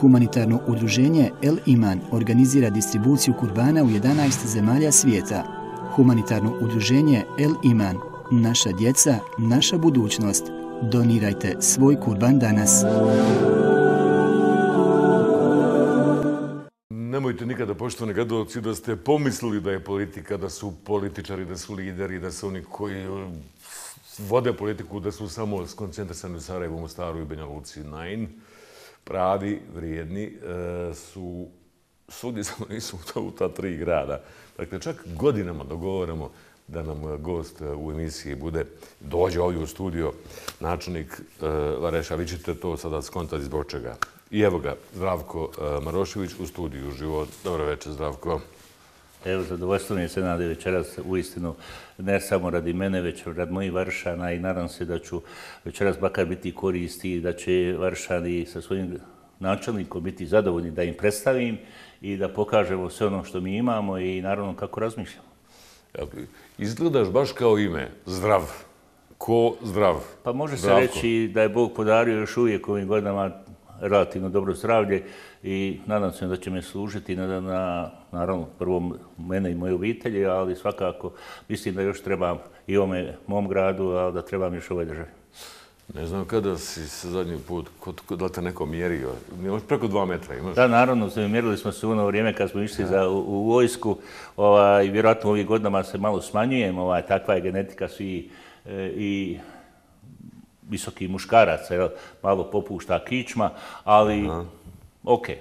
Humanitarno udruženje El Iman organizira distribuciju kurbana u 11 zemalja svijeta. Humanitarno udruženje El Iman, naša djeca, naša budućnost. Donirajte svoj kurban danas. Nemojte nikada, poštovani gledalci, da ste pomislili da je politika, da su političari, da su lideri, da su oni koji vode politiku, da su samo skoncentrisani u Sarajevu, Mostaru i Banja Luci. Nein, pravi, vrijedni su svugdje, samo nisu u ta 3 grada. Dakle, čak godinama dogovaramo da nam gost u emisiji dođe ovdje u studio, načelnik Vareša. Vi ćete to sada skontati zbog čega. I evo ga, Zdravko Marošević u studiju Život. Dobro večer, Zdravko. Evo, zadovoljstvo mi je se nade večeras uistinu ne samo radi mene, već radi mojih Varšana i nadam se da ću večeras bakar biti koristi i da će Varšani sa svojim načelnikom biti zadovoljni da im predstavim i da pokažemo sve ono što mi imamo i naravno kako razmišljamo. Izgledaš baš kao ime, Zdrav. Ko Zdrav? Pa može se reći da je Bog podario još uvijek ovim godinama relativno dobro zdravlje i nadam se da će me služiti na naravno prvo mene i moje obitelji, ali svakako mislim da još trebam i ovome mom gradu, ali da trebam još ovoj državi. Ne znam kada si se zadnji put, da te neko mjerio, imaš preko 2 metra, imaš? Da, naravno, mjerili smo se u ono vrijeme kad smo išli u vojsku, vjerojatno ovih godinama se malo smanjujem, takva je genetika svi i visoki muškaraca, malo popušta kičma, ali okej.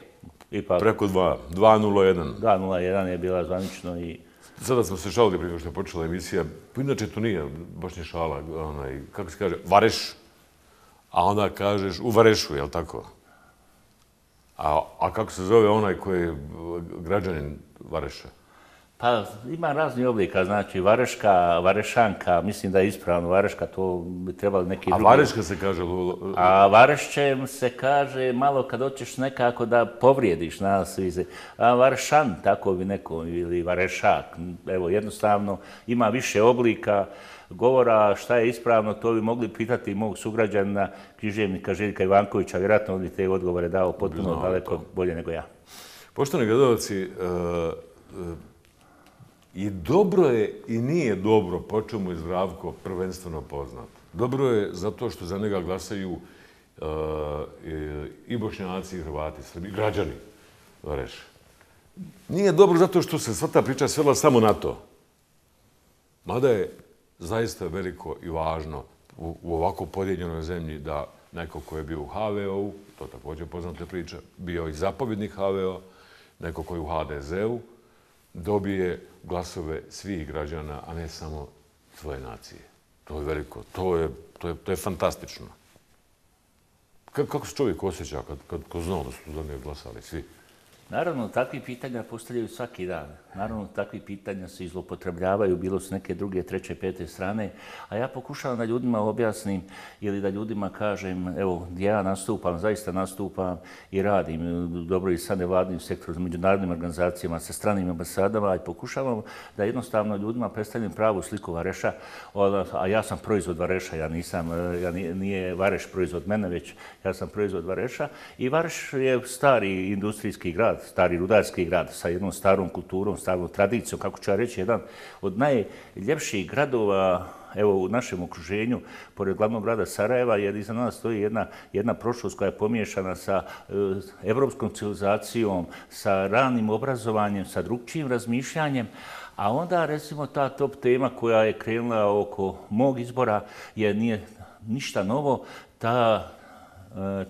Preko 2,01. 2,01 je bila zvanično i... Sada smo se šalili prije što je počela emisija. Inače to nije baš ni šala, kako se kaže, Vareš, a onda kažeš u Varešu, je li tako? A kako se zove onaj koji je građanin Vareša? Pa ima razni oblika, znači Vareška, Varešanka, mislim da je ispravno Vareška, to bi trebali neki drugi... A Vareška se kaže? A Varešćem se kaže malo kad hoćeš nekako da povrijediš nas. A Varešan, tako bi neko, ili Varešak. Evo, jednostavno ima više oblika govora, šta je ispravno, to bi mogli pitati mog sugrađana, književnika Željka Ivankovića, vjerojatno on bi te odgovore dao potpuno daleko bolje nego ja. Poštovani gledalci, i dobro je i nije dobro po čemu je Zdravko prvenstveno poznat. Dobro je zato što za njega glasaju i Bošnjaci i Hrvati, Srbi, građani Vareša. Nije dobro zato što se sva ta priča svela samo na to. Mada je zaista veliko i važno u ovako podijeljenoj zemlji da neko ko je bio u HVO-u, to također poznata priča, bio i zapovjednik HVO, neko ko je u HDZ-u, dobije glasove svih građana, a ne samo svoje nacije. To je veliko, to je fantastično. Kako se čovjek osjeća kad znao da su za njega glasali svi? Naravno, takvi pitanja postavljaju svaki dan. Naravno, takvi pitanja se izlopotrebljavaju, bilo su neke druge, treće, pete strane, a ja pokušavam da ljudima objasnim ili da ljudima kažem, evo, gdje ja nastupam, zaista nastupam i radim dobro i sa nevladnim sektorom, sa međunarodnim organizacijama, sa stranim ambasadama i pokušavam da jednostavno ljudima predstavljam pravu sliku Vareša, a ja sam proizvod Vareša, nije Vareš proizvod mene, već ja sam proizvod Vareša i Vareš je stari industrijski grad, stari rudarski grad sa jednom starom kulturom, starom tradicijom, kako ću ja reći, jedan od najljepših gradova evo, u našem okruženju, pored glavnog grada Sarajeva, jer iza nas stoji jedna prošlost koja je pomiješana sa evropskom civilizacijom, sa ranim obrazovanjem, sa drugčijim razmišljanjem, a onda, recimo, ta top tema koja je krenula oko mog izbora nije ništa novo,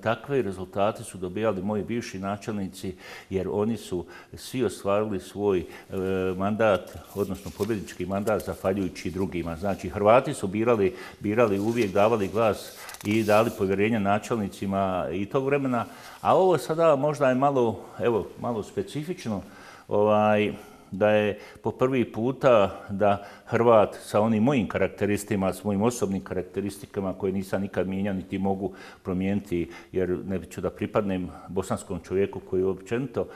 takve rezultate su dobijali moji bivši načelnici jer oni su svi ostvarili svoj mandat, odnosno pobjednički mandat zahvaljujući drugima. Znači, Hrvati su birali uvijek, davali glas i dali povjerenje načelnicima i tog vremena, a ovo sada možda je malo specifično, da je po prvi puta da Hrvat sa onim mojim karakteristima, s mojim osobnim karakteristikama koje nisam nikad mijenjao niti mogu promijeniti jer ne ću da pripadnem bosanskom čovjeku koji općenito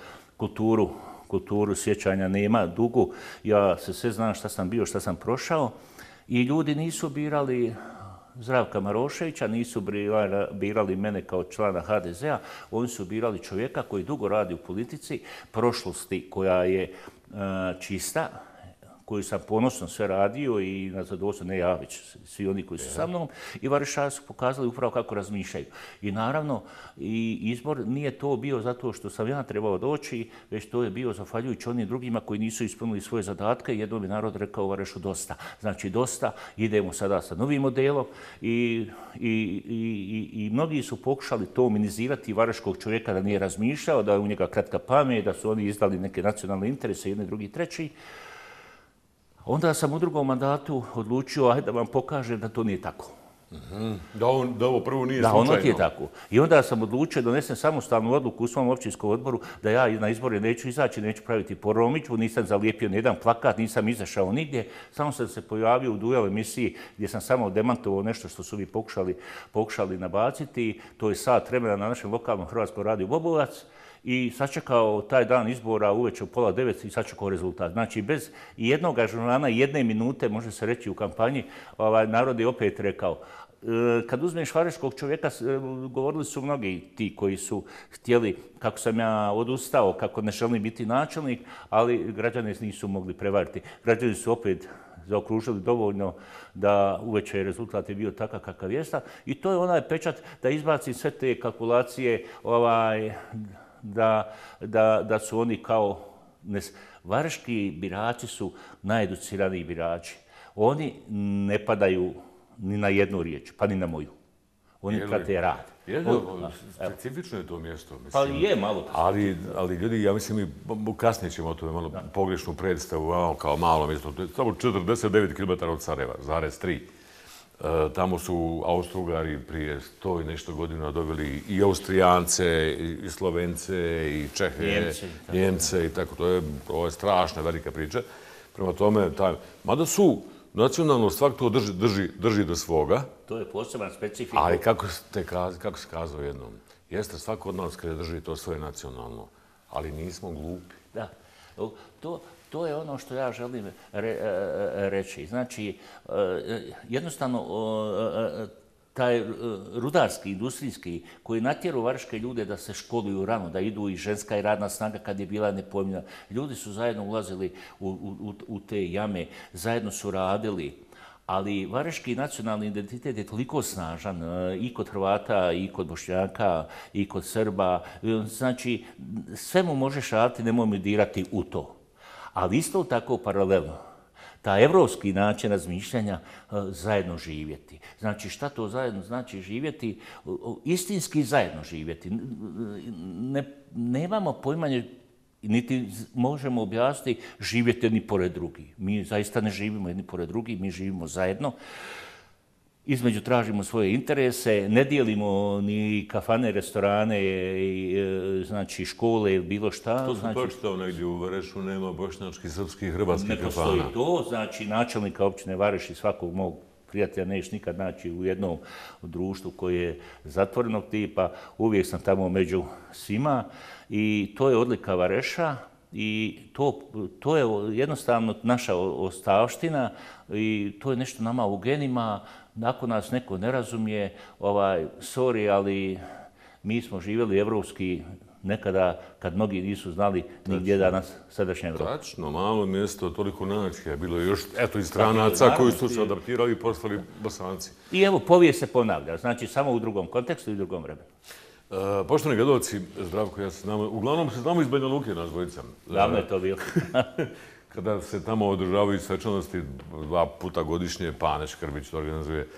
kulturu sjećanja nema dugu. Ja se sve znam šta sam bio, šta sam prošao i ljudi nisu birali Zdravka Maroševića, nisu birali mene kao člana HDZ-a, oni su birali čovjeka koji dugo radi u politici, prošlosti koja je čista, koju sam ponosno sve radio i na zadovoljstvo, ne ja, već svi oni koji su sa mnom, i Varešari su pokazali upravo kako razmišljaju. I naravno, i izbor nije to bio zato što sam ja trebao doći, već to je bio zahvaljujući onim drugima koji nisu ispunili svoje zadatke. Jednom je narod rekao u Varešu dosta. Znači dosta, idemo sada sa novim modelom i mnogi su pokušali to minimizirati vareškog čovjeka da nije razmišljao, da je u njega kratka pamet, da su oni izdali neke nacionalne interese, jedni, drugi, treći. Onda sam u drugom mandatu odlučio, ajde da vam pokažem da to nije tako. Da ovo prvo nije slučajno. Da, ono ti je tako. I onda sam odlučio da donesem samostalnu odluku u svom općinskom odboru da ja na izbore neću izaći, neću praviti promidžbu, nisam zalijepio nijedan plakat, nisam izašao nigdje. Samo sam se pojavio u duel emisiji gdje sam samo demantovao nešto što su vi pokušali nabaciti. To je sat vremena na našem lokalnom Hrvatskom radiju Bobovac. I sačekao taj dan izbora uveče u 8:30 i sačekao rezultat. Znači, bez jednog ažurana, jedne minute, može se reći u kampanji, narod je opet rekao. Kad uzmeš vareškog čovjeka, govorili su mnogi ti koji su htjeli, kako sam ja odustao, kako ne želim biti načelnik, ali građani nisu mogli prevariti. Građani su opet zaokružili dovoljno da uveče rezultat je bio takav kakav jeste. I to je onaj pečat da izbaci sve te kalkulacije, da su oni kao... Vareški birači su najeduciraniji birači. Oni ne padaju ni na jednu riječ, pa ni na moju. Oni prate rad. Specifično je to mjesto. Pa je malo. Ali ljudi, ja mislim, mi kasnije ćemo o tome malo pogrešnu predstavu, kao malo mjesto. To je samo 49 km od Sarajeva, zarez 3. Tamo su Austro-Ugari prije 100 i nešto godina doveli i Austrijance, i Slovence, i Čehe, Njemce i tako. To je strašna velika priča. Prema tome, mada su nacionalno svak to drži do svoga. To je poseban specifik. Ali kako se kazao jednom, jeste svako od nas kada drži to svoje nacionalno, ali nismo glupi. Da. To je ono što ja želim reći. Znači, jednostavno, taj rudarski, industrijski, koji natjeru vareške ljude da se školuju rano, da idu i ženska i radna snaga kad je bila nepojmljena. Ljudi su zajedno ulazili u te jame, zajedno su radili. Ali vareški nacionalni identitet je toliko snažan i kod Hrvata, i kod Bošnjaka, i kod Srba. Znači, sve mu možeš raditi, nemoj mi dirati u to. Ali isto tako paralelno, ta evropski način razmišljanja zajedno živjeti. Znači, šta to zajedno znači živjeti? Istinski zajedno živjeti. Nemamo poimanje, niti možemo objasniti živjeti jedni pored drugih. Mi zaista ne živimo jedni pored drugih, mi živimo zajedno. Između tražimo svoje interese, ne dijelimo ni kafane, restorane, znači škole ili bilo šta. To sam počitao negdje u Varešu, nema bošnjačkih, srpskih, hrvatskih kafana. Ne postoji to, znači načelnika općine Vareš i svakog mog prijatelja nećeš nikad naći u jednom društvu koje je zatvorenog tipa. Uvijek sam tamo među svima i to je odlika Vareša. I to je jednostavno naša ostavština i to je nešto nama u genima. Ako nas neko ne razumije, sorry, ali mi smo živjeli evropski nekada kad mnogi nisu znali nigdje danas sadašnja Evropa. Tačno, malo mjesto, toliko nacija. Bilo je još i stranaca koji su se adaptirali i postali Bosanci. I evo, povijest se ponavlja, znači samo u drugom kontekstu i u drugom vremenu. Poštovani gledalci, Zdravko, ja se znamo, uglavnom se znamo iz Banja Luke, nas dvojica. Davno je to bilo. Kada se tamo održavaju svečanosti 2 puta godišnje, Pane Škrbić to organizuje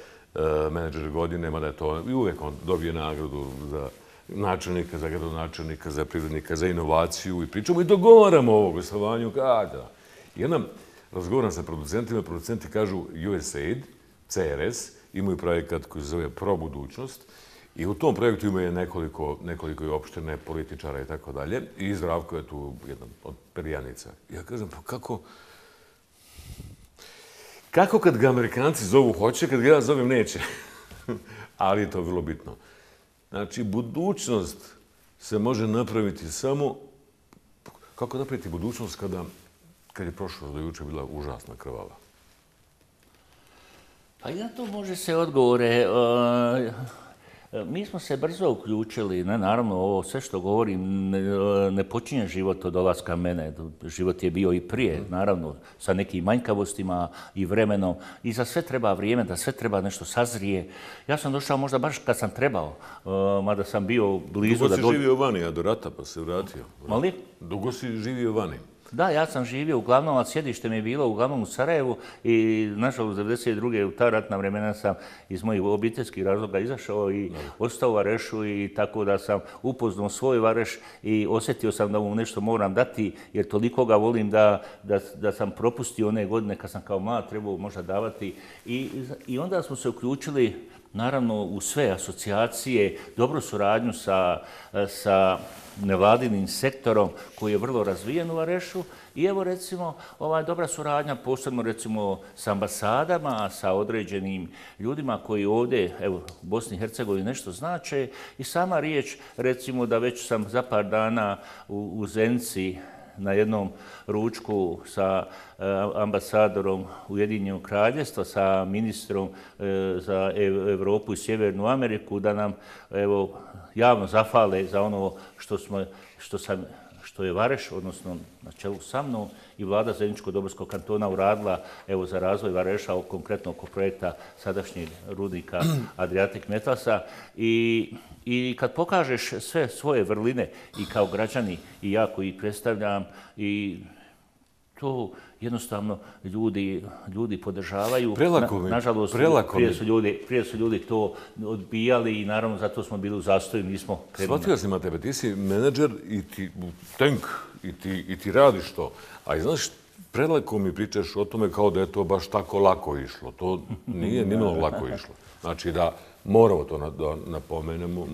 menadžer godine, mada je to i uvijek on dobije nagradu za načelnika, za gradonačelnika, za privrednika, za inovaciju i pričamo i dogovaramo ovo gostovanju kada. Jednom razgovaram sa producentima, producenti kažu USAID, CRS, imaju projekat koji se zove Pro budućnost i u tom projektu imaju nekoliko opštine, političara i tako dalje. I Zdravko je tu jedna od perjanica. Ja kažem, pa kako kad ga Amerikanci zovu hoće, kad ga ja zovem neće? Ali je to vrlo bitno. Znači, budućnost se može napraviti samo... Kako napraviti budućnost kad je prošlost do juče bila užasna krvava? Pa i na to može se odgovore. Mi smo se brzo uključili, naravno ovo sve što govorim ne počinje život od dolaska mene, život je bio i prije, naravno sa nekim manjkavostima i vremenom i za sve treba vrijeme, da sve treba nešto sazrije. Ja sam došao možda baš kad sam trebao, mada sam bio blizu. Dugo si živio vani, a do rata pa se vratio. Mali? Dugo si živio vani. Da, ja sam živio uglavnom, a sjedište mi je bilo uglavnom u Sarajevu i nažalost 1992. u ta ratna vremena sam iz mojih obiteljskih razloga izašao i ostao u Varešu i tako da sam upoznao svoj Vareš i osjetio sam da mu nešto moram dati jer toliko ga volim da sam propustio one godine kad sam kao mlad trebao možda davati i onda smo se uključili naravno u sve asocijacije, dobru suradnju sa nevladinim sektorom koji je vrlo razvijen u Varešu i evo recimo dobra suradnja posebno recimo s ambasadama, sa određenim ljudima koji ovdje evo, u Bosni i Hercegovini nešto znače i sama riječ recimo da već sam za par dana u Zenici na jednom ručku sa ambasadorom Ujedinjenog Kraljevstva, sa ministrom za Evropu i Sjevernu Ameriku, da nam evo, javno zahvale za ono što je Vareš, odnosno na čelu sa mnom i vlada Zeničko-Dobrskog kantona uradila evo, za razvoj Vareša, konkretno oko projekta sadašnjeg rudnika Adriatic Metalsa i kad pokažeš sve svoje vrline i kao građani i ja koji predstavljam i to jednostavno ljudi podržavaju. Nažalost, prije su ljudi to odbijali i naravno zato smo bili u zastoju, nismo krenuli. Shvatio sam na tebe, ti si menadžer i ti tank i ti radiš to. A znaš, prelako mi pričaš o tome kao da je to baš tako lako išlo. To nije nimalo lako išlo. Znači da moramo to da napomenemo,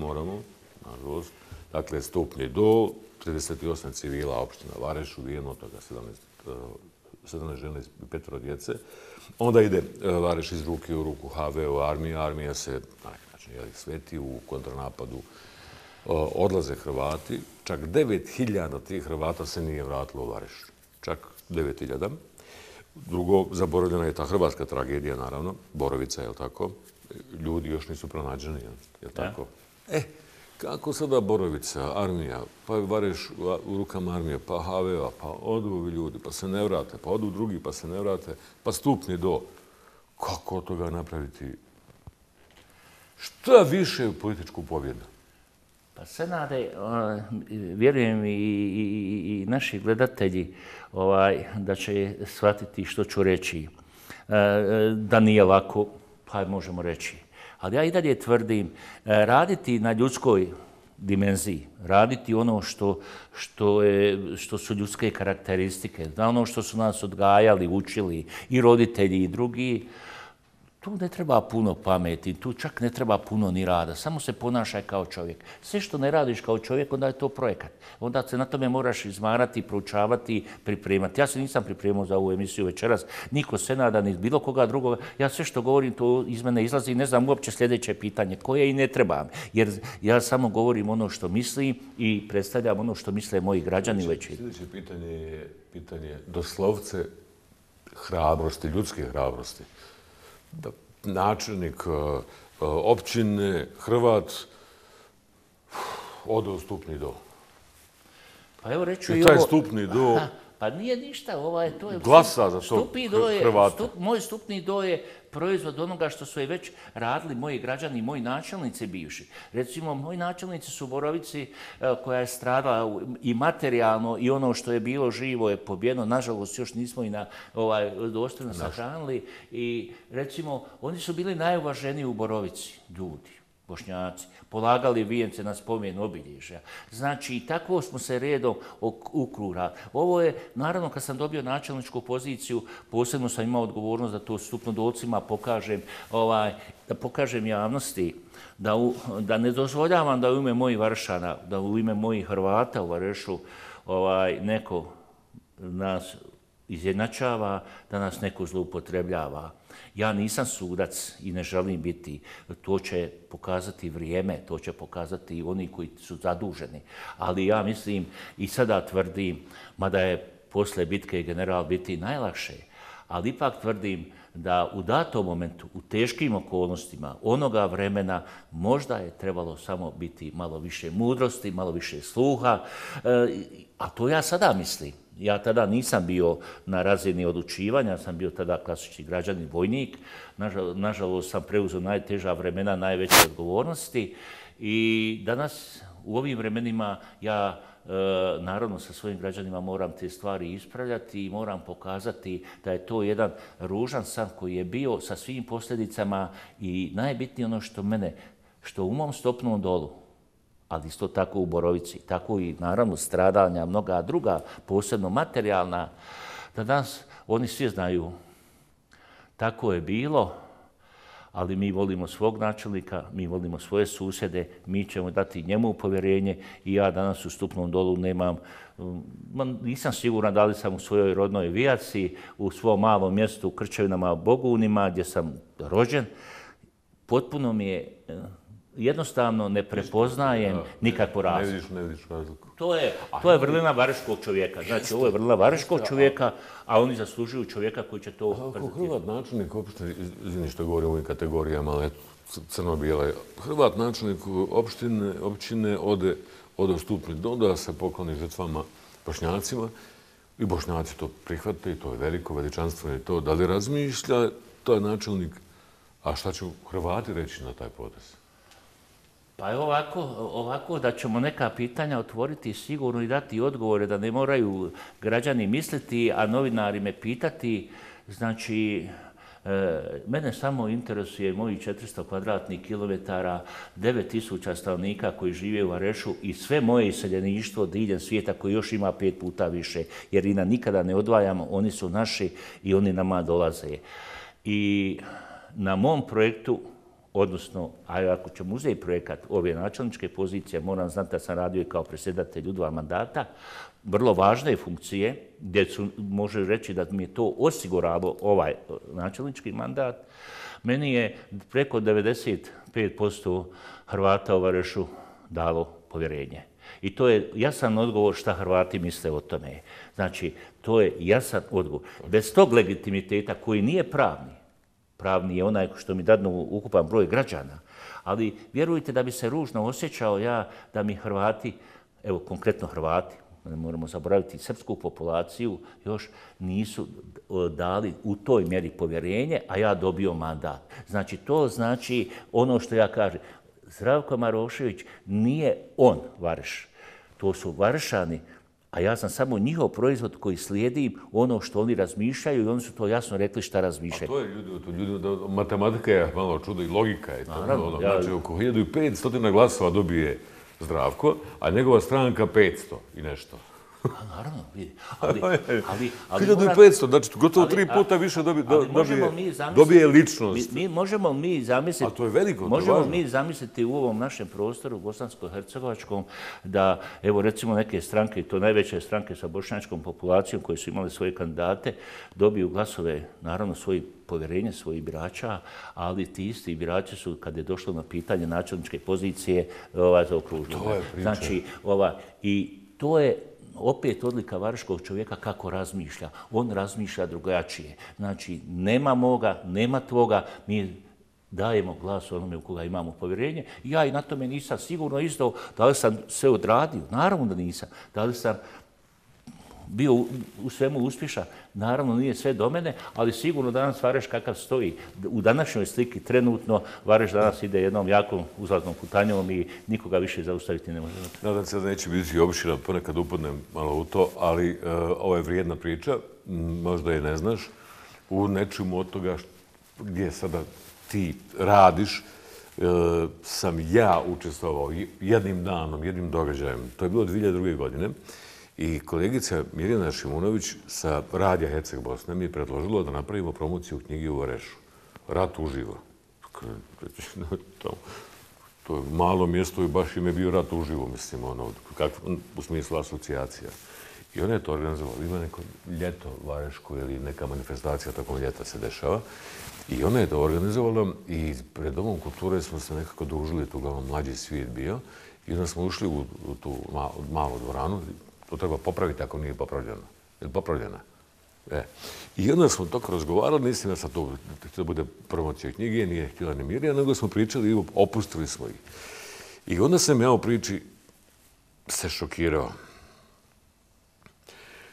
nažalost. Dakle, stupnje do 38 civila opština Vareš, ubijeno od toga 17 žena i 5 djece. Onda ide Vareš iz ruke u ruku HVO, armija se na neki način sveti u kontranapadu. Odlaze Hrvati, čak 9.000 tih Hrvata se nije vratilo u Vareš. Čak 9.000. Drugo, zaboravljena je ta hrvatska tragedija, naravno, Borovica, je li tako? Ljudi još nisu pronađeni, je li tako? Kako sada Borovica, armija, pa Vareš u rukama armije, pa HVO, pa odu ovi ljudi, pa se ne vrate, pa odu drugi, pa se ne vrate, pa stupni do. Kako od toga napraviti? Šta više je političku pobjedu? Pa Senade, vjerujem i naši gledatelji da će shvatiti što ću reći. Da nije lako, pa možemo reći. Ali ja i dalje tvrdim, raditi na ljudskoj dimenziji, raditi ono što su ljudske karakteristike, na ono što su nas odgajali, učili i roditelji i drugi, tu ne treba puno pameti, tu čak ne treba puno ni rada, samo se ponašaj kao čovjek. Sve što ne radiš kao čovjek, onda je to projekat. Onda se na tome moraš izmarati, proučavati, pripremati. Ja se nisam pripremao za ovu emisiju večeras, niko Senada, ni bilo koga drugoga. Ja sve što govorim, to iz mene izlazi i ne znam uopće sljedeće pitanje, koje i ne trebam. Jer ja samo govorim ono što mislim i predstavljam ono što misle moji građani veći. Sljedeće pitanje je pitanje doslovce hrabrosti, ljudske hrabrosti. Da načelnik općine, Hrvat, ode u stupni do. Pa evo reću i taj stupni do... Pa nije ništa, to je... Glasa za to Hrvata. Moj stupni do je proizvod onoga što su već radili moji građani, moji načelnici bivši. Recimo, moji načelnici su u Borovici koja je stradala i materijalno i ono što je bilo živo je pobjedno. Nažalost, još nismo i dostojno sahranili. I recimo, oni su bili najuvaženiji u Borovici, ljudi. Bošnjaci, polagali vijence na spomen obilježja. Znači, i tako smo se redom ukrura. Ovo je, naravno, kad sam dobio načelničku poziciju, posebno sam imao odgovornost da to stupnodolcima pokažem, da pokažem javnosti, da ne dozvoljavam da u ime mojih Varšana, da u ime mojih Hrvata u Varešu neko nas izjednačava, da nas neko zloupotrebljava. Ja nisam sudac i ne želim biti. To će pokazati vrijeme, to će pokazati oni koji su zaduženi. Ali ja mislim i sada tvrdim, mada je posle bitke general biti najlakše, ali ipak tvrdim da u datom momentu, u teškim okolnostima onoga vremena možda je trebalo samo biti malo više mudrosti, malo više sluha, a to ja sada mislim. Ja tada nisam bio na razini odlučivanja, sam bio tada klasični građanin, vojnik. Nažalost sam preuzeo najteža vremena, najveće odgovornosti i danas u ovim vremenima ja naravno sa svojim građanima moram te stvari ispravljati i moram pokazati da je to jedan ružan san koji je bio sa svim posljedicama i najbitnije ono što u mom Stopnom Dolu, ali isto tako u Borovici, tako i naravno stradanja, mnoga druga, posebno materijalna, da danas oni svi znaju tako je bilo, ali mi volimo svog načelnika, mi volimo svoje susjede, mi ćemo dati njemu povjerenje i ja danas u Stupnom Dolu nisam siguran da li sam u svojoj rodnoj Vijaci, u svom malom mjestu u Krčevinama, Bogunima, gdje sam rođen. Potpuno mi je jednostavno ne prepoznajem nikakvu razliku. Ne vidiš razliku. To je vrlina vareškog čovjeka. Znači, ovo je vrlina vareškog čovjeka, a oni zaslužuju čovjeka koji će to prezentirati. Hrvat načelnik opštine, izvini što govorim u ovim kategorijama, ali crno-bijela, Hrvat načelnik općine ode u Stupni Dol da se pokloni žrtvama Bošnjacima i Bošnjaci to prihvate i to je veliko, veličanstveno i to. Da li razmišlja taj načelnik, a šta će Hrvati reći na taj potez? Pa je ovako da ćemo neka pitanja otvoriti sigurno i dati odgovore da ne moraju građani misliti, a novinari me pitati. Znači, mene samo interesuje mojih 400 kvadratnih kilometara, 9000 stanovnika koji žive u Varešu i sve moje iseljeništvo diljem svijeta koji još ima 5 puta više, jer i nikada ne odvajamo, oni su naši i oni nama dolaze. I na mom projektu, odnosno, ako ćemo uzeti projekat ove načelničke pozicije, moram znati da sam radio i kao predsjedatelj u 2 mandata, vrlo važne funkcije, gdje može reći da mi je to osiguralo ovaj načelnički mandat, meni je preko 95% Hrvata u Varešu dalo povjerenje. I to je jasan odgovor šta Hrvati misle o tome. Znači, to je jasan odgovor. Bez tog legitimiteta koji nije pravni je onaj što mi dadnu ukupan broj građana, ali vjerujte da bi se ružno osjećao ja da mi Hrvati, evo konkretno Hrvati, ne moramo zaboraviti srpsku populaciju, još nisu dali u toj mjeri povjerenje, a ja dobio mandat. Znači, to znači ono što ja kažem. Zdravko Marošević nije on Vareš, to su Varešani, a ja sam samo njihov proizvod koji slijedim ono što oni razmišljaju i oni su to jasno rekli šta razmišljaju. A to je ljudi, matematika je malo čudo i logika je to. Znači, oko 1500 glasova dobije Zdravko, a njegova stranka 500 i nešto. Naravno, vidi. 1500, znači gotovo 3 puta više dobije ličnost. Možemo mi zamisliti... A to je veliko, to je možemo važno. mi zamisliti u ovom našem prostoru, bosansko-hercegovačkom, da, evo recimo neke stranke, to najveće stranke sa bošnjačkom populacijom koje su imali svoje kandidate, dobiju glasove, naravno, svoje povjerenje svojih birača, ali ti isti birači su, kad je došlo na pitanje načelničke pozicije, zaokružili. To je priča. Znači, i to je opet odlika vareškog čovjeka kako razmišlja. On razmišlja drugačije. Znači, nema moga, nema tvoga, mi dajemo glas onome u koga imamo povjerenje. Ja i na tome nisam sigurno isto da li sam sve odradio. Naravno da nisam. Da li sam bio u svemu uspješan. Naravno nije sve do mene, ali sigurno danas Vareš kakav stoji. U današnjoj sliki trenutno Vareš danas ide jednom jakom uzlaznom putanjom i nikoga više zaustaviti ne može. Nadam se da neće biti opština, ponekad upadnem malo u to, ali ovo je vrijedna priča, možda je ne znaš, u nečemu od toga gdje sada ti radiš, sam ja učestvovao jednim danom, jednim događajem. To je bilo 2002. godine. I kolegica Mirjana Šimunović sa Radija Herceg Bosne mi je predložila da napravimo promociju knjige u Varešu. Rat uživo. To je malo mjesto i baš im je bio rat uživo, mislim, u smislu asocijacija. I ona je to organizovala. Ima neko ljeto vareško ili neka manifestacija tokom ljeta se dešava. I ona je to organizovala i pred Domom kulture smo se nekako družili, tu uglavnom mlađi svijet bio. I onda smo ušli u tu malu dvoranu. To treba popraviti ako nije popravljeno. Je li popravljena? I onda smo tako razgovarali, nisam ja sad to da bude promocija knjige, nije htjela ni Mirja, nego smo pričali i opustili smo ih. I onda sam ja u priči se šokirao.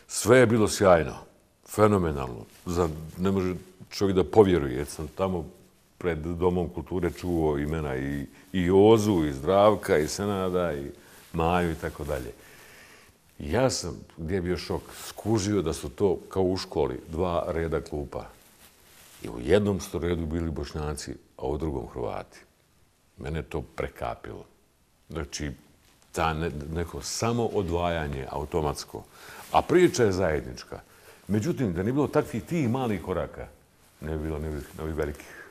Sve je bilo sjajno, fenomenalno. Ne može čovjek da povjeruje, jer sam tamo pred Domom kulture čuo imena i Ozu, i Zdravka, i Senada, i Maju i tako dalje. Ja sam, gdje je bio šok, skužio da su to, kao u školi, 2 reda klupa. I u jednom su redu bili Bošnjaci, a u drugom Hrvati. Mene to prekapilo. Znači, ta neko samo odvajanje automatsko. A priča je zajednička. Međutim, da nije bilo takvih tih malih koraka, ne bi bilo novih velikih.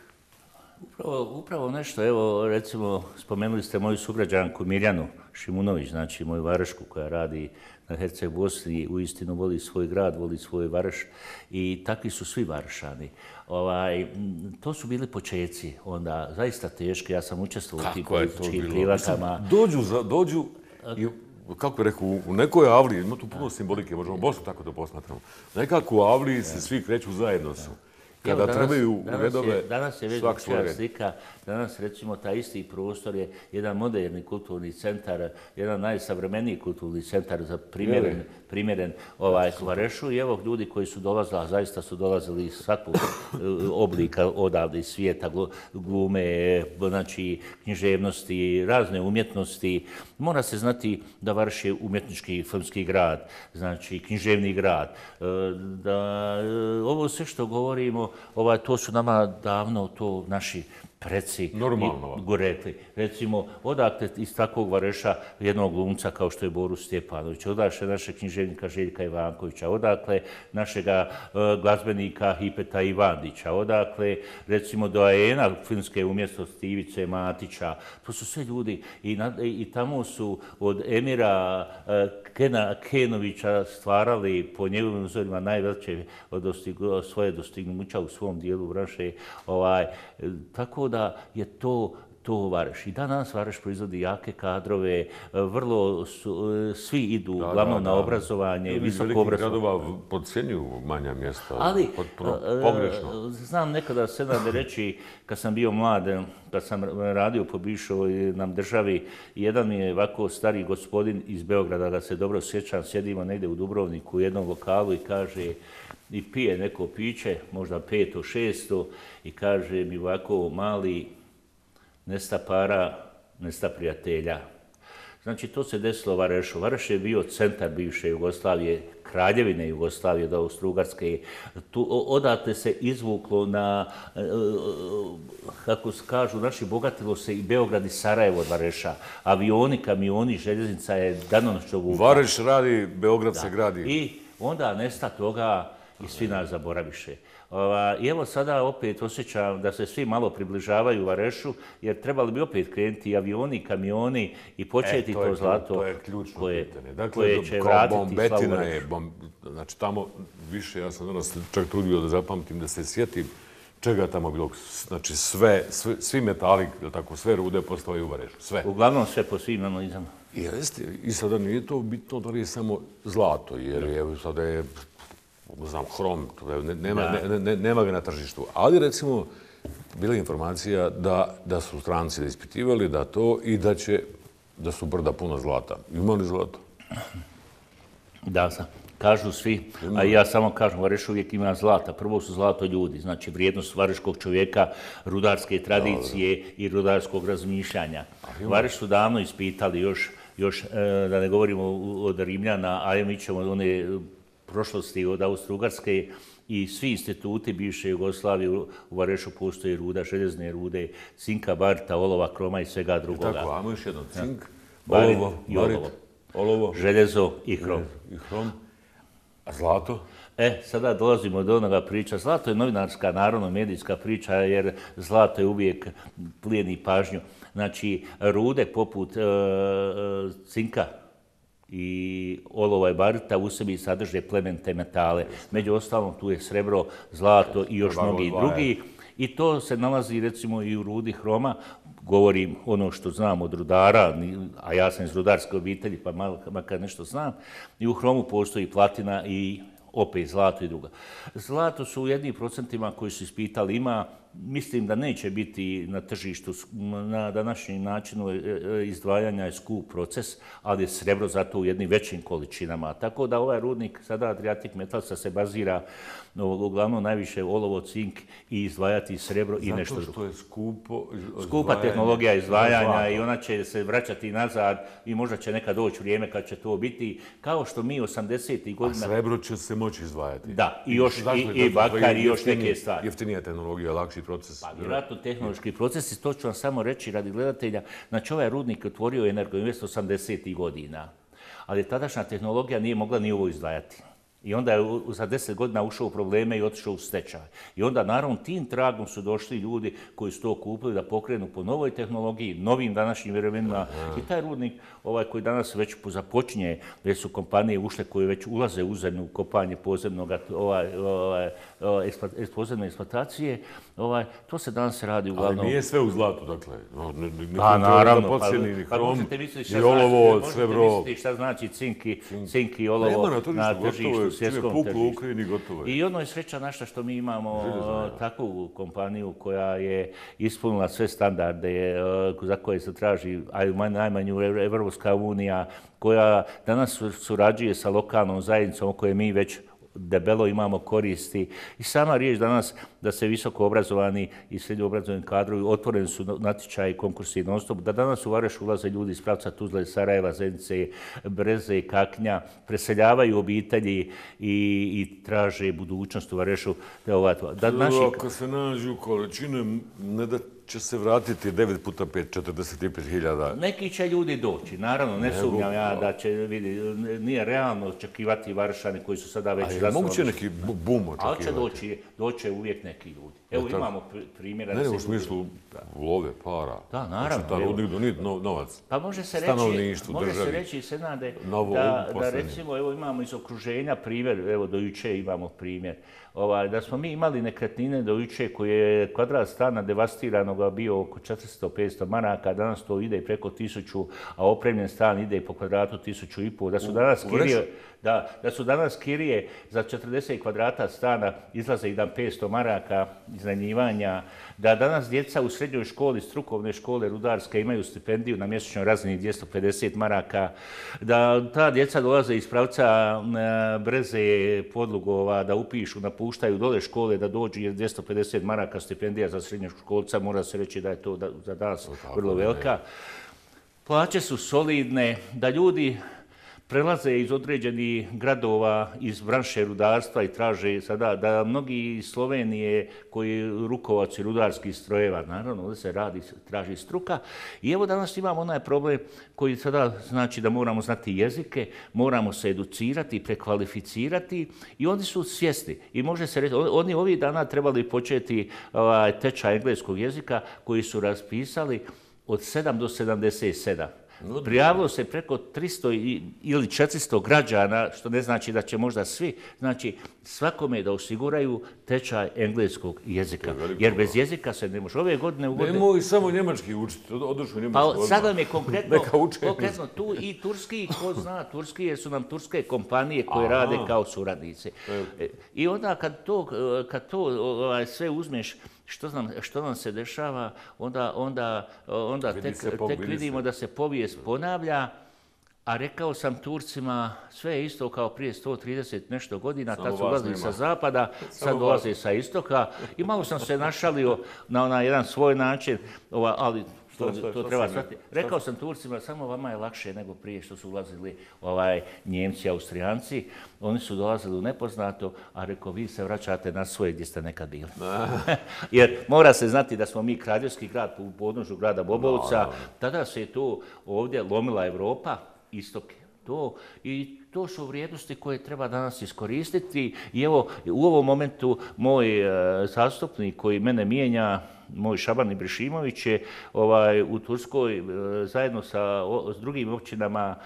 Upravo nešto, evo recimo spomenuli ste moju sugrađanku Mirjanu Šimunović, znači moju Varešku koja radi na Herceg Bosni, uistinu voli svoj grad, voli svoj Vareš i takvi su svi Varešani. To su bili počeci, onda zaista teški, ja sam učestvovao u tim političkim prilikama. Dođu i kako bih rekao, u nekoj avliji, ima tu puno simbolike, možemo Bosnu tako da posmatramo. Nekako u avliji se svi kreću zajedno su. Kada trebaju redove, danas je već drugačija slika. Danas, recimo, taj isti prostor je jedan moderni kulturni centar, jedan najsavremeniji kulturni centar za primjeren Varešu. I evo ljudi koji su dolazili, a zaista su dolazili iz svakog oblika odavde iz svijeta, glume, znači književnosti, razne umjetnosti. Mora se znati da Vareš je umjetnički filmski grad, znači književni grad. Ovo sve što govorimo, to su nama davno to naši preci rekli. Recimo, odakle iz takvog Vareša jednog glumca kao što je Borus Stjepanović, odakle našeg književnika Željka Ivankovića, odakle našega glazbenika Hipeta Ivandića, odakle recimo doajena filmske umjetnosti Ivice Matića. To su sve ljudi i tamo su od Emira Kenovića stvarali po njegovim uzorima najveće svoje dostignuća u svom dijelu branše. Tako da je to Vareš. I danas Vareš proizvodi jake kadrove, vrlo svi idu uglavnom na obrazovanje, visoko obrazovanje. Gradova podcjenjuju manja mjesta, ali pogrešno. Znam nekada se da reći, kad sam bio mlad, kad sam radio po bivšoj nam državi, jedan mi je ovako stari gospodin iz Beograda, da se dobro sjećam, sjedimo negdje u Dubrovniku u jednom lokalu i kaže, i pije neko piće, možda 500, 600, i kaže mi ovako, mali, nesta para, nesta prijatelja. Znači, to se desilo Varešu. Vareš je bio centar bivše Jugoslavije, kraljevine Jugoslavije, do Austro-Ugarske. Odatle se izvuklo na, kako kažu, naši bogatilo se i Beograd i Sarajevo od Vareša. Avioni, kamioni, željeznica je danonoćno vukla. Vareš radi, Beograd se gradi. I onda nesta toga i svi nas zaboraviše. I evo sada opet osjećam da se svi malo približavaju Varešu, jer trebali bi opet krenuti avioni, kamioni i početi to zlato to je ključno pitanje. Koje će vratiti slavu Varešu. Znači tamo više, ja sam danas čak trudio da zapamtim, da se sjetim čega tamo bilo. Znači svi metali, tako, sve rude postavaju u Varešu. Sve. Uglavnom sve po svim analizama. I sada nije to bitno da li je samo zlato, jer sada je znam, hrom, nema ga na tržištu. Ali, recimo, bila je informacija da su stranci ispitivali da to i da su brda puna zlata. Ima li zlato? Da, kažu svi, a ja samo kažem, Vareš uvijek ima zlata. Prvo su zlato ljudi, znači vrijednost vareškog čovjeka, rudarske tradicije i rudarskog razmišljanja. Vareš su davno ispitali još da ne govorimo od Rimljana, a mi ćemo one prošlosti od Austro-Ugarske i svi instituti bivše Jugoslavije u Varešu postoje ruda, željezne rude, cinka, barita, olova, kroma i svega drugoga. Tako, ajmo još jedno, cink, olovo, željezo i hrom. A zlato? Sada dolazimo do onoga priča. Zlato je novinarska, narodno-medijska priča, jer zlato je uvijek plijeni pažnju. Znači, rude poput cinka i olova i barita u sebi sadrže plemenite metale. Među ostalom tu je srebro, zlato i još mnogi drugi. I to se nalazi recimo i u rudi hroma. Govorim ono što znam od rudara, a ja sam iz rudarske obitelji pa makar nešto znam. I u hromu postoji platina i opet zlato i druga. Zlato su u jednim procentima koji su ispitali ima, mislim da neće biti na tržištu na današnji način izdvajanja je skup proces, ali je srebro zato u jednim većim količinama. Tako da ovaj rudnik sada Adriatic Metalsa se bazira uglavnom najviše olovo, cink i izdvajati srebro i nešto drugo. Zato što je skupa tehnologija izdvajanja i ona će se vraćati nazad i možda će nekad doći vrijeme kad će to biti kao što mi 80. godina... A srebro će se moći izdvajati. Da, i još i bakar i još neke stvari. Jeftinija tehnologija, lakši proces. Pa, vjerojatno tehnološki procesi, to ću vam samo reći radi gledatelja. Znači, ovaj rudnik je otvorio Energoinvest 80. godina, ali tadašnja tehnologija nije mogla ni ovo izdvajati. I onda je za 10 godina ušao u probleme i otišao u stečaj. I onda, naravno, tim tragom su došli ljudi koji su to kupili da pokrenu po novoj tehnologiji, novim današnjim vremenima. I taj rudnik, koji danas već započinje, gdje su kompanije ušle koje već ulaze u zemlju kopanje podzemne eksploatacije, to se danas radi uglavnom... Ali nije sve u zlatu, dakle. Pa, naravno. Pa možete misliti šta znači cink i olovo na tržištu. I ono je sreća naša što mi imamo takvu kompaniju koja je ispunila sve standarde za koje se traži, a najmanju Evropska unija, koja danas surađuje sa lokalnom zajednicom o kojoj mi već debelo imamo koristi. I sama riječ danas da se visoko obrazovani i srednje obrazovani kadrovi, otvoreni su natječaji, konkursi non stop, da danas u Vareš ulaze ljudi iz pravca Tuzle, Sarajeva, Zenice, Breze, Kaknja, preseljavaju obitelji i traže budućnost u Varešu. Ako se nađu količine, ne da će se vratiti 9 puta 5, 45.000. Neki će ljudi doći, naravno, ne sumnjam ja da će vidjeti, nije realno očekivati Varšani koji su sada već zasnovali. Moguće neki bum očekivati. Ali će doći uvijek neki ljudi. Evo imamo primjera... Ne, u smislu love, para. Da, naravno. Znači, rudnik donijeti novac. Pa može se reći, Senade, da recimo, evo imamo iz okruženja primjer, evo do juče imamo primjer, da smo mi imali nekretnine do juče koje je kvadrat stana devastiranog bio oko 400-500 maraka, danas to ide preko 1000, a opremljen stan ide po kvadratu 1500, da su danas kirije za 40 kvadrata stana izlaze i dan 500 maraka iznajmljivanja, da danas djeca u srednjoj školi, strukovne škole rudarske imaju stipendiju na mjesečnoj razini 250 maraka, da ta djeca dolaze iz pravca Breze, Podlugova, da upišu, napuštaju dole škole, da dođu jer 250 maraka stipendija za srednjoškolca, mora se reći da je to za danas vrlo velika. Plaće su solidne, da ljudi prelaze iz određenih gradova, iz branše rudarstva i traže sada da mnogi iz Slovenije koji rukovaci rudarskih strojeva, naravno, ovdje se traži struka. I evo danas imamo onaj problem koji sada znači da moramo znati jezike, moramo se educirati, prekvalificirati i oni su svjesni. I može se reći, oni ovih dana trebali početi tečaj engleskog jezika koji su raspisali od 7 do 77. Prijavilo se preko 300 ili 400 građana, što ne znači da će možda svi, znači svakome da osiguraju tečaj engleskog jezika. Jer bez jezika se ne može. Ove godine u godine... Nemoj samo njemački učiti, odušu njemački odmah. Pa sad vam je konkretno tu i turski, ko zna turski, jer su nam turske kompanije koje rade kao suradnici. I onda kad to sve uzmeš, što nam se dešava, onda tek vidimo da se povijest ponavlja, a rekao sam Turcima, sve je isto kao prije 130 nešto godina, tad su ulazili sa zapada, sad dolaze sa istoka i malo sam se našalio na jedan svoj način, ali to treba shvatiti. Rekao sam Turcima, samo vama je lakše nego prije što su ulazili Njemci, Austrijanci. Oni su dolazili u nepoznato, a rekao, vi se vraćate na svoje gdje ste nekad bili. Jer mora se znati da smo mi kraljevski grad u podnožju grada Bobovca. Tada se je to ovdje lomila Evropa, istok i to su vrijednosti koje treba danas iskoristiti. I evo, u ovom momentu moj zastupnik koji mene mijenja, moj Šaban Ibrišimović je u Turskoj zajedno s drugim općinama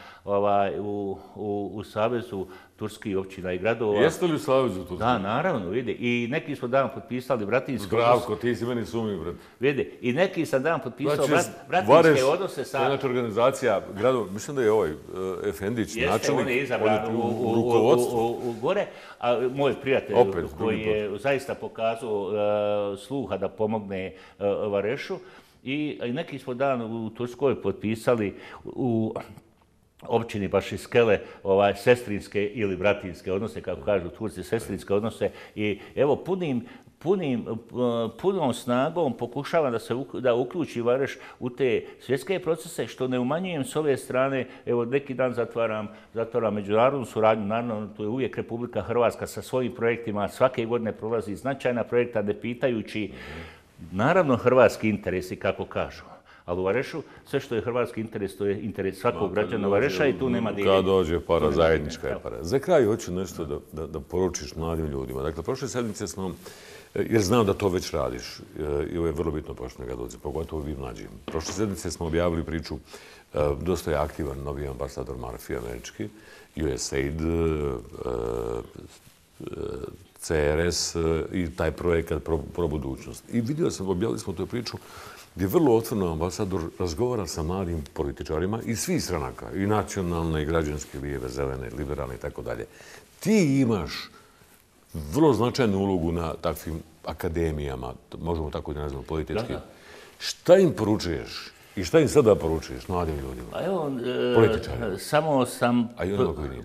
u Savezu turskih općina i gradova. Jeste li u Savezu Turskoj? Da, naravno, vidi. I neki smo dan potpisali bratinske odnose. Zdravko, ti si meni sumnji, brat. Vidi, i neki sam dan potpisao bratinske odnose sa... Znači, organizacija gradova, mislim da je Efendić, načelnik. Jeste, on je izabran u gore, a moj prijatelj koji je zaista pokazao sluha da pomogne Varešu i neki smo dan u Turskoj potpisali u općini baš iz Skele, sestrinske ili bratinske odnose, kako kažu Turci, sestrinske odnose. I evo, punom snagom pokušavam da uključi Vareš u te svjetske procese, što ne umanjujem s ove strane. Evo, neki dan zatvaram međunarodnu suradnju, naravno, to je uvijek Republika Hrvatska sa svojim projektima, svake godine prolazi značajna projekta, ne pitajući, naravno, hrvatski interesi, kako kažu. Ali u Varešu, sve što je hrvatski interes, to je interes svakog građana Vareša i tu nema dijeljenja. Kad dođe para, zajednička je para. Za kraj hoću nešto da poručiš mladim ljudima. Dakle, prošle sedmice smo, jer znam da to već radiš, i ovo je vrlo bitno pošto ga dođe, pogotovo vi mlađi. Prošle sedmice smo objavili priču, dosta je aktivan novi ambasador Murphy, američki, USAID, CRS i taj projekat Pro budućnost. I vidio sam, objavili smo tu priču, gdje vrlo otvoreno ambasador razgovara sa mladim političarima iz svih stranaka, i nacionalne, i građanske, lijeve, zelene, liberalne i tako dalje. Ti imaš vrlo značajnu ulogu na takvim akademijama, možemo tako da nazvamo politički. Šta im poručuješ i šta im sada poručuješ mladim ljudima? Evo, političarima. Samo sam,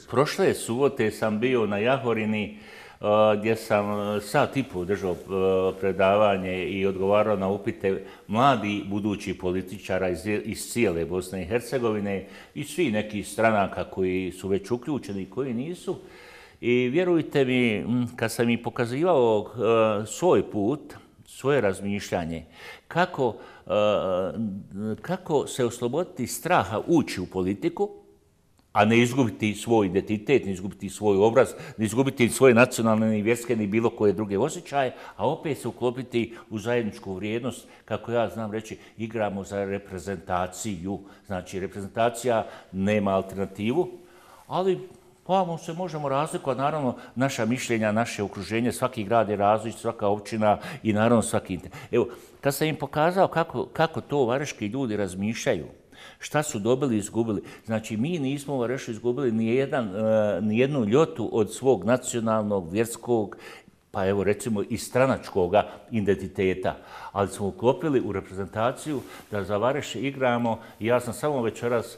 prošle subote sam bio na Jahorini, gdje sam sat i pol držao predavanje i odgovarao na upite mladi budući političara iz cijele Bosne i Hercegovine i svi nekih stranaka koji su već uključeni i koji nisu. I vjerujte mi, kad sam im pokazivao svoj put, svoje razmišljanje, kako se osloboditi straha ući u politiku, a ne izgubiti svoj identitet, ne izgubiti svoj obraz, ne izgubiti svoje nacionalne, ni vjerske, ni bilo koje druge osjećaje, a opet se uklopiti u zajedničku vrijednost, kako ja znam reći, igramo za reprezentaciju. Znači, reprezentacija nema alternativu, ali ovamo se možemo razlikovati, naravno, naša mišljenja, naše okruženje, svaki grad je različit, svaka općina i naravno svaki interes. Evo, kad sam im pokazao kako to vareški ljudi razmišljaju, šta su dobili i izgubili. Znači, mi nismo u Varešu izgubili ni jednu ljotu od svog nacionalnog, vjerskog, pa evo recimo i stranačkog identiteta. Ali smo uklopili u reprezentaciju da za Vareš igramo i ja sam samo večeras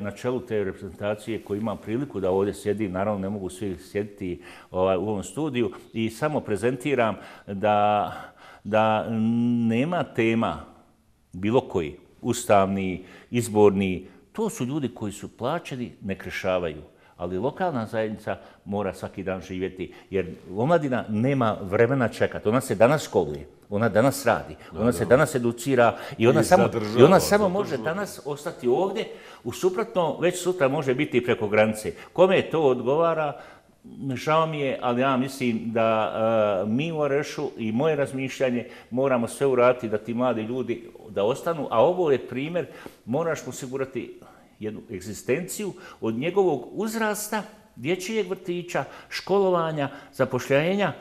na čelu te reprezentacije koji imam priliku da ovdje sjedim, naravno ne mogu svi sjediti u ovom studiju i samo prezentiram da nema tema bilo koji, ustavni, izborni, to su ljudi koji su plaćeni, ne krešavaju. Ali lokalna zajednica mora svaki dan živjeti, jer omladina nema vremena čekati. Ona se danas školuje, ona danas radi, ona se danas educira i ona samo može danas ostati ovdje, u suprotno već sutra može biti i preko granice. Kome to odgovara, žao mi je, ali ja mislim da mi u Varešu i moje razmišljanje moramo sve uraditi da ti mladi ljudi da ostanu, a ovo je primjer, moraš osigurati jednu egzistenciju od njegovog uzrasta, dječjeg vrtića, školovanja, zapošljenja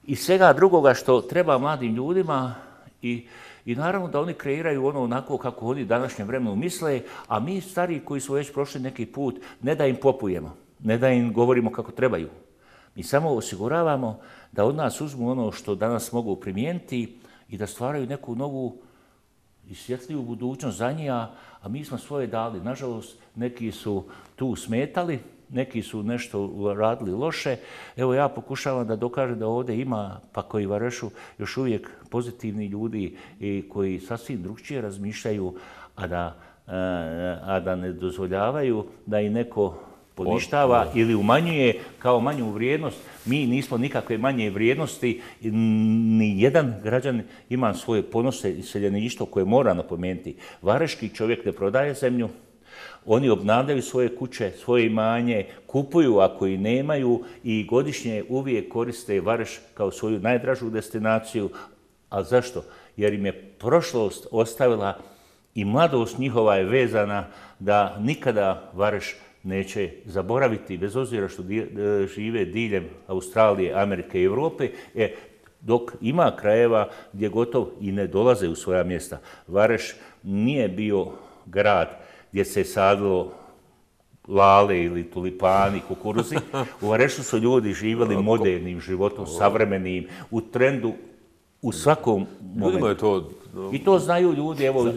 i svega drugoga što treba mladim ljudima i naravno da oni kreiraju ono onako kako oni današnjem vremenu misle, a mi stariji koji smo već prošli neki put, ne da im popujemo, ne da im govorimo kako trebaju. Mi samo osiguravamo da od nas uzmu ono što danas mogu primijeniti i da stvaraju neku novu i svjetliju budućnost za njih, a mi smo svoje dali. Nažalost, neki su tu smetali, neki su nešto radili loše. Evo ja pokušavam da dokažem da ovdje ima, pa koji Varešu, još uvijek pozitivni ljudi i koji sasvim drugčije razmišljaju, a da ne dozvoljavaju da i neko poništava ili umanjuje kao manju vrijednost. Mi nismo nikakve manje vrijednosti, ni jedan građan ima svoje ponose i seljeništvo koje mora napomenuti. Vareški čovjek ne prodaje zemlju, oni obnavljaju svoje kuće, svoje imanje, kupuju ako i nemaju i godišnje uvijek koriste Vareš kao svoju najdražu destinaciju. A zašto? Jer im je prošlost ostavila i mladost njihova je vezana da nikada Vareš neće zaboraviti, bez obzira što žive diljem Australije, Amerike i Europe, dok ima krajeva gdje gotovo i ne dolaze u svoja mjesta. Vareš nije bio grad gdje se sadilo lale ili tulipani, kukuruzi. U Varešu su ljudi živjeli modernim životom, savremenim, u trendu, u svakom momentu. I to znaju ljudi, evo...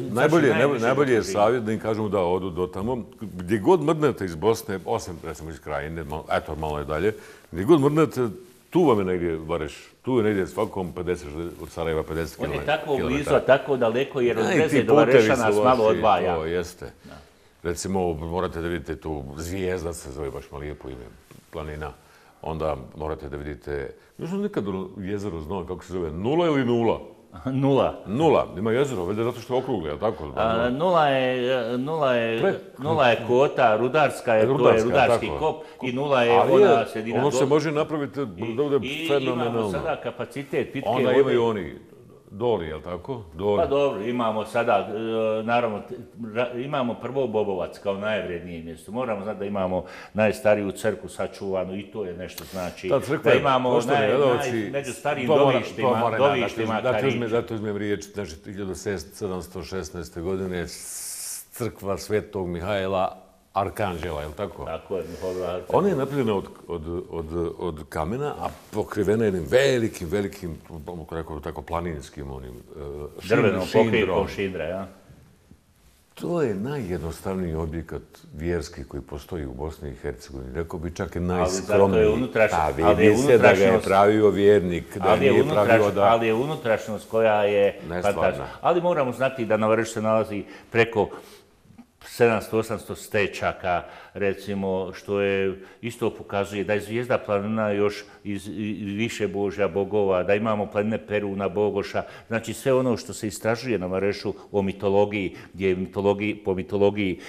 Najbolje je savjet da im kažemo da odu do tamo. Gdje god mrdnete iz Bosne, osim recimo iz Krajine, eto malo je dalje, gdje god mrdnete, tu vam je negdje Vareš. Tu je negdje svakom 50, od Sarajeva 50 km. On je tako blizu, a tako daleko, jer od Breze do Vareša nas malo odvaja. To jeste. Recimo, morate da vidite tu Zvijezda, se zove baš malo lijepo ime, planina. Onda morate da vidite, još nekad jezero znao kako se zove, Nula ili Nula? Nula. Ima jezero, vede zato što je okrugli, je li tako? Nula je kota, rudarska je, to je rudarski kop i nula je ona sredina. Ono se može napraviti da bude fenomenalno. I imamo sada kapacitet pitke vode. Onda imaju oni Doli, je li tako? Pa dobro, imamo sada, naravno, imamo prvo Bobovac kao najvrednije mjesto. Moramo znati da imamo najstariju crkvu sačuvanu i to je nešto znači. Da imamo među starijim dovištima Karića. Zato uzmem riječ, znači 1716. godine crkva Svetog Mihajla Arkanđela, je li tako? Tako je, Mihajla Arkanđela. Ona je napravljena od kamena, a pokrivena jednim velikim, tako planinskim onim drvenom pokrivom šindra, ja? To je najjednostavniji objekat vjerski koji postoji u Bosni i Hercegovini. Rekao bi čak i najskromniji. Vidi se da ga je pravio vjernik, da nije pravio da... Ali je unutrašnost koja je fantastična. Ali moramo znati da na Varešu se nalazi preko 700-800 stečaka, recimo, što je isto pokazuje da je Zvijezda planina još iz više božja bogova, da imamo planine Peruna, Bogoša, znači sve ono što se istražuje na Varešu o mitologiji, gdje je po mitologiji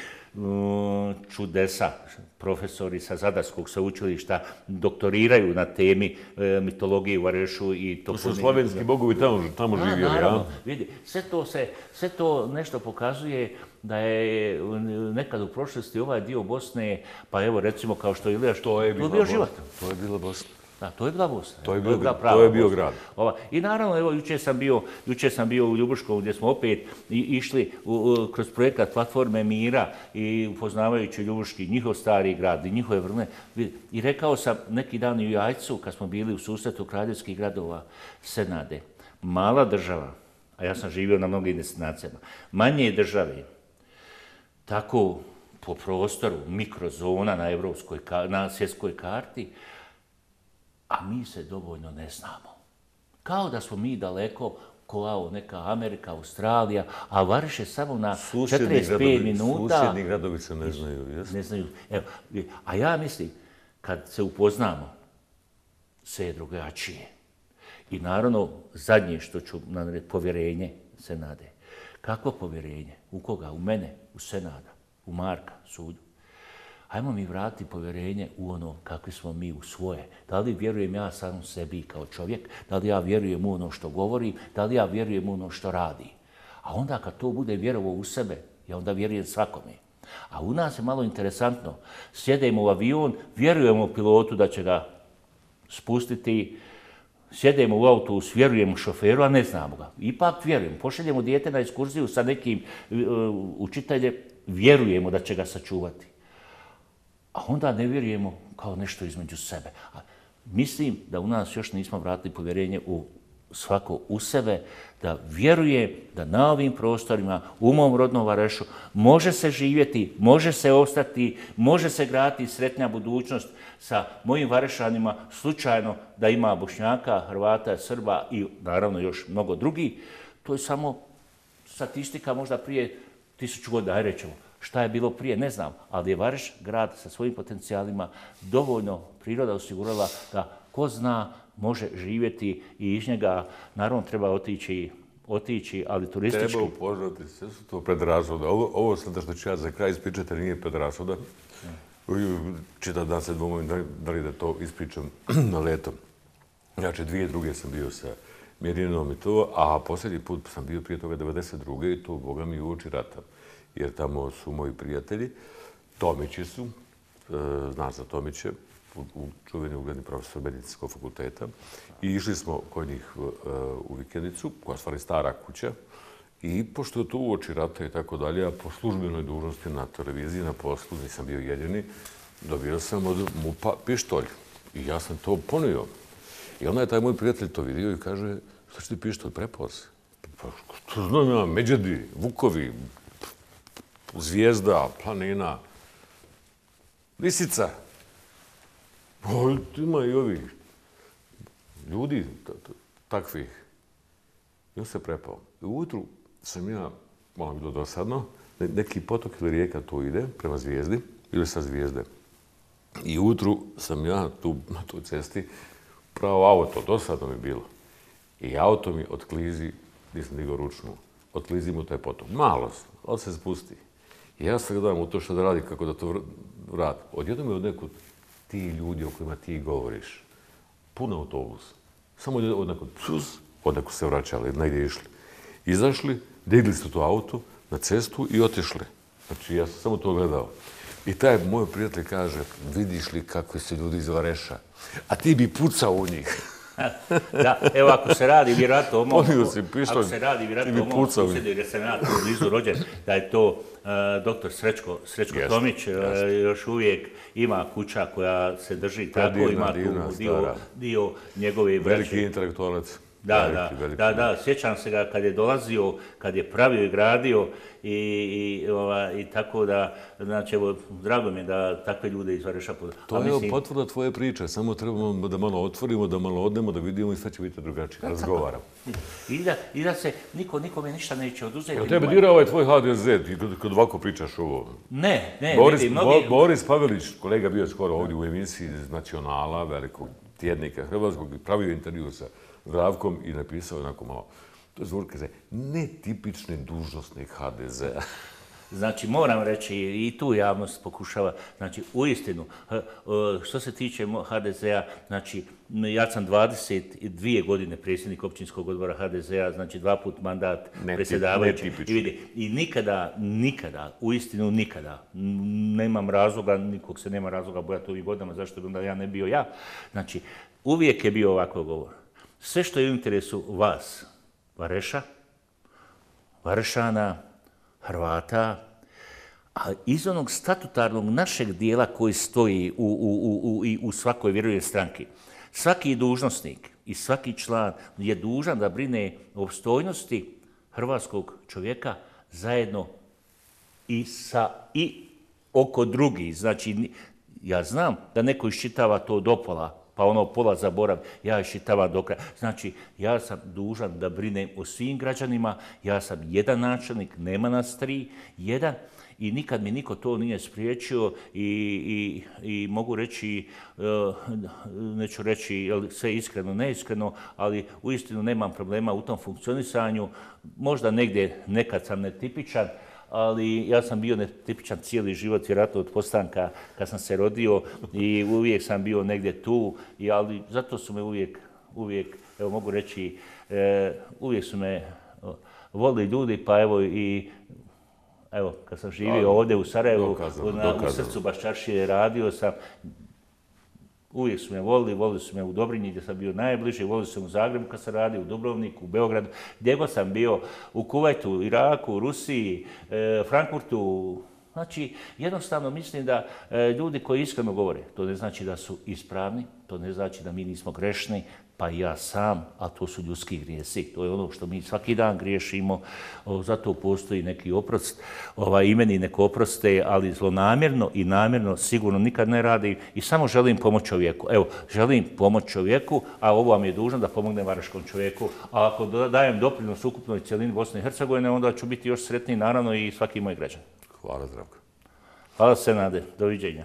čudesa, profesori sa Zadarskog sveučilišta doktoriraju na temi mitologije u Varešu i to su slovenski bogovi tamo živjeli, ja? Naravno, vidi, sve to nešto pokazuje da je nekad u prošlosti ovaj dio Bosne, pa evo recimo kao što je Ilijaš, to je bio život. To je bila Bosna. Da, to je bila Bosna. To je bio grad. I naravno, evo, jučer sam bio u Ljubuškom gdje smo opet išli kroz projekat Platforme mira i upoznavajući Ljubuški, njihov stari grad i njihove vrline. I rekao sam neki dan u Jajcu, kad smo bili u susretu kraljevskih gradova Senade, mala država, a ja sam živio na mnogim destinacijama, manje države, tako po prostoru, mikrozona na svjetskoj karti, a mi se dovoljno ne znamo. Kao da smo mi daleko kao neka Amerika, Australija, a Vareš je samo na 45 minuta. Susjedni gradovi se ne znaju, jesno? Ne znaju. Evo, a ja mislim, kad se upoznamo, sve je drugačije. I naravno, zadnje što ću narediti, povjerenje Senade. Kakvo povjerenje? U koga? U mene? U Senada? U Marka? Sudu? Hajmo mi vratiti povjerenje u ono kakvi smo mi u svoje. Da li vjerujem ja sam sebi kao čovjek, da li ja vjerujem u ono što govorim, da li ja vjerujem u ono što radi. A onda kad to bude vjerovo u sebe, ja onda vjerujem svakome. A u nas je malo interesantno. Sjedemo u avion, vjerujemo u pilotu da će ga spustiti, sjedemo u autobus, vjerujemo šoferu, a ne znamo ga. Ipak vjerujemo. Pošaljemo dijete na ekskurziju sa nekim učiteljem, vjerujemo da će ga sačuvati. A onda ne vjerujemo kao nešto između sebe. Mislim da u nas još nismo vratili povjerenje svako u sebe, da vjeruje da na ovim prostorima, u mom rodnom Varešu, može se živjeti, može se ostati, može se graditi sretnija budućnost sa mojim Varešanima, slučajno da ima Bošnjaka, Hrvata, Srba i naravno još mnogo drugih. To je samo statistika možda prije 1000 godina, aj rećemo. Šta je bilo prije, ne znam, ali je Vareš grad sa svojim potencijalima dovoljno priroda osigurala da ko zna može živjeti i iz njega naravno treba otići, ali turistički. Treba upoznati, sve su to predrasude. Ovo sada što ću ja za kraj ispričati nije predrasuda. Čitav dan se dvomim da li da to ispričam na leto. Znači, 2002. sam bio sa Mirjanom i to, a posljednji put sam bio prije toga 1992. i to, Boga mi, uoči rata. Jer tamo su moji prijatelji, Tomići su, znaš za Tomiće, čuveni ugledni profesor medicinskog fakulteta. I išli smo kod njih u vikendicu, koja je stvari stara kuća. I pošto je to uoči rata i tako dalje, a po službenoj dužnosti na televiziji, na poslu, nisam bio jedini, dobio sam od MUP-a pištolj. I ja sam to ponio. I onda je taj moj prijatelj to vidio i kaže, šta će ti pištolj, prepao se? Pa što znam ja, Međedi, Vukovi, Zvijezda, Planina, Lisica. Ima i ovih ljudi takvih. I on se prepao. I ujutru sam ja, malo bilo dosadno, neki potok ili rijeka tu ide prema Zvijezdi ili sa Zvijezde. I ujutru sam ja tu na toj cesti pravo auto, dosadno mi bilo. I auto mi otklizi, nisam digao ručnu, otklizi mu taj potok. Malo, on se spusti. I ja se gledam u to što da radi, kako da to vrati. Odjednom je od nekud ti ljudi o kojima ti govoriš, pun autobus. Samo od nekud, od nekud se vraćali, negdje išli. Izašli, digli su to auto na cestu i otišli. Znači, ja sam samo to gledao. I taj moj prijatelj kaže, vidiš li kakvi su ljudi iz Vareša, a ti bi pucao u njih. Da, evo ako se radi vjerojatno Ponio si pištolj, ti bi pucao u njih. Jer sam ja tu blizu rođen, da je to doktor Srećko Tomić, još uvijek ima kuća koja se drži tako, ima tu dio njegove braće. Veliki intelektualac. Da, sjećam se ga kad je dolazio, kad je pravio i gradio i tako da, znači, evo, drago mi je da takve ljude iz Vareša... To je potvrda tvoje priče, samo trebamo da malo otvorimo, da malo odnemo, da vidimo i sve će biti drugačije. Razgovaramo. I da se nikome ništa neće oduzeti. Jel tebe dira ovaj tvoj HDZ, kad ovako pričaš ovo? Ne. Boris Pavelić, kolega bio skoro ovdje u emisiji iz Nacionala, velikog tjednika hrvatskog, pravio intervju sa Zdravkom i napisao onako malo, to je zvuk kaže, netipični dužnosnik HDZ-a. Znači, moram reći, i tu javnost pokušava, znači, uistinu, što se tiče HDZ-a, znači, ja sam 22 godine predsjednik općinskog odbora HDZ-a, znači 2 put mandat predsjedavajući. I nikada, uistinu nikada, nemam razloga, nikog se nema razloga bojati ovih godinama, zašto bi onda ja ne bio ja. Znači, uvijek je bio ovako govor. Sve što je u interesu vas, Vareša, Varešana, Hrvata, a iz onog statutarnog našeg dijela koji stoji u svakoj vjerovnoj stranki, svaki dužnosnik i svaki član je dužan da brine o opstojnosti hrvatskog čovjeka zajedno i oko drugih. Znači, ja znam da neko iščitava to do pola, pa ono pola zaborav, ja iščitavam do kraja. Znači, ja sam dužan da brinem o svim građanima, ja sam jedan načelnik, nema nas 3, jedan, i nikad mi niko to nije spriječio i mogu reći, neću reći sve iskreno, neiskreno, ali uistinu nemam problema u tom funkcionisanju. Možda negdje nekad sam netipičan, ali ja sam bio netipičan cijeli život, vjerojatno od postanka kad sam se rodio i uvijek sam bio negdje tu, ali zato su me uvijek, evo mogu reći, uvijek su me volili ljudi, pa evo i kad sam živio ovdje u Sarajevu, u srcu Baščaršije, radio sam, uvijek su me volili su me u Dobrinji gdje sam bio najbliže, volili su me u Zagrebu kad sam radio, u Dubrovniku, u Beogradu, gdje god sam bio, u Kuvajtu, Iraku, Rusiji, Frankfurtu. Znači, jednostavno mislim da ljudi koji iskreno govore, to ne znači da su ispravni, to ne znači da mi nismo grešni, pa i ja sam, a to su ljudski grijesi. To je ono što mi svaki dan griješimo, zato postoji neki oprost, i meni neko oproste, ali zlonamjerno i namjerno sigurno nikad ne radi i samo želim pomoći čovjeku. Evo, želim pomoći čovjeku, a ovo vam je dužan da pomognem varaškom čovjeku, a ako dajem doprinos ukupnoj cijelini Bosne i Hercegovine, onda ću biti još sretniji, naravno, i svaki moj građan. Hvala, Zdravko. Hvala, Senade. Doviđenja.